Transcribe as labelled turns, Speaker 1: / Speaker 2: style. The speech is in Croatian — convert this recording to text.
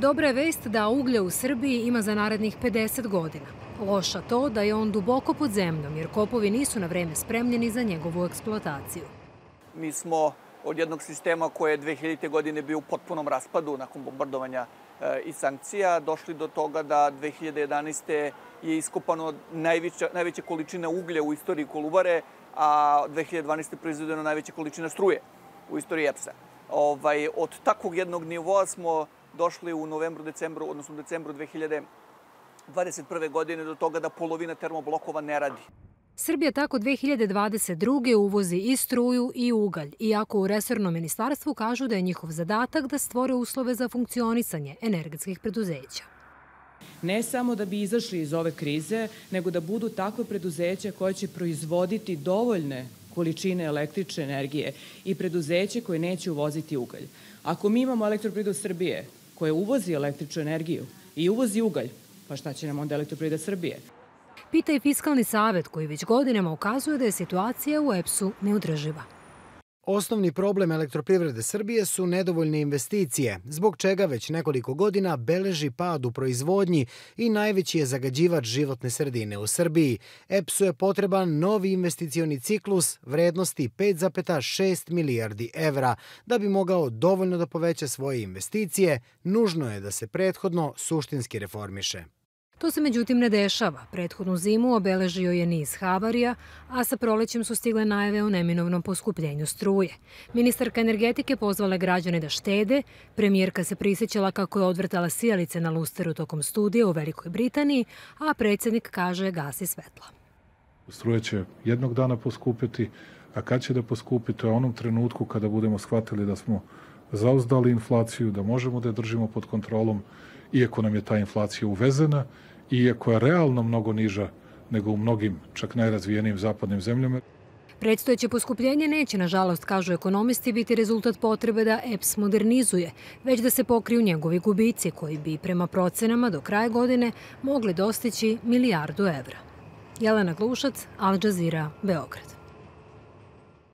Speaker 1: Dobra je vest da uglja u Srbiji ima za narednih 50 godina. Loša to da je on duboko pod zemljom jer kopovi nisu na vreme spremljeni za njegovu eksploataciju.
Speaker 2: Mi smo od jednog sistema koje je 2000. godine bio u potpunom raspadu nakon bombardovanja i sankcija došli do toga da 2011. je iskopano najveća količina uglja u istoriji Kolubare, a 2012. proizvedeno najveća količina struje u istoriji EPS-a. Od takvog jednog nivoa smo došli u decembru 2021. godine do toga da polovina termoblokova ne radi.
Speaker 1: Srbija tako 2022. uvozi i struju i ugalj, iako u resornom ministarstvu kažu da je njihov zadatak da stvore uslove za funkcionisanje energetskih preduzeća.
Speaker 3: Ne samo da bi izašli iz ove krize, nego da budu takve preduzeća koje će proizvoditi dovoljne količine električne energije i preduzeće koje neće uvoziti ugalj. Ako mi imamo Elektroprivredu Srbije koja uvozi električnu energiju i uvozi ugalj, pa šta će nam onda Elektroprivreda Srbije?
Speaker 1: Pita i Fiskalni savet koji već godinama ukazuje da je situacija u EPS-u neodrživa.
Speaker 4: Osnovni problem Elektroprivrede Srbije su nedovoljne investicije, zbog čega već nekoliko godina beleži pad u proizvodnji i najveći je zagađivač životne sredine u Srbiji. EPS-u je potreban novi investicioni ciklus vrednosti 5,6 milijardi evra. Da bi mogao dovoljno da poveća svoje investicije, nužno je da se prethodno suštinski reformiše.
Speaker 1: To se međutim ne dešava. Prethodnu zimu obeležio je niz havarija, a sa prolećem su stigle najave o neminovnom poskupljenju struje. Ministarka energetike pozvala građane da štede, premijerka se prisjećala kako je odvrtala sijalice na lusteru tokom studija u Velikoj Britaniji, a predsjednik kaže gasi svetla.
Speaker 5: Struja će jednog dana poskupiti, a kad će da poskupi, to je onom trenutku kada budemo shvatili da smo zauzdali inflaciju, da možemo da je držimo pod kontrolom, iako nam je ta inflacija uvezena, iako je realno mnogo niža nego u mnogim, čak najrazvijenijim zapadnim zemljama.
Speaker 1: Predstojeće poskupljenje neće, nažalost, kažu ekonomisti, biti rezultat potrebe da EPS modernizuje, već da se pokriju njegovi gubici koji bi, prema procenama, do kraja godine mogli dostići milijardu evra. Jelena Glušac, Al Jazeera, Beograd.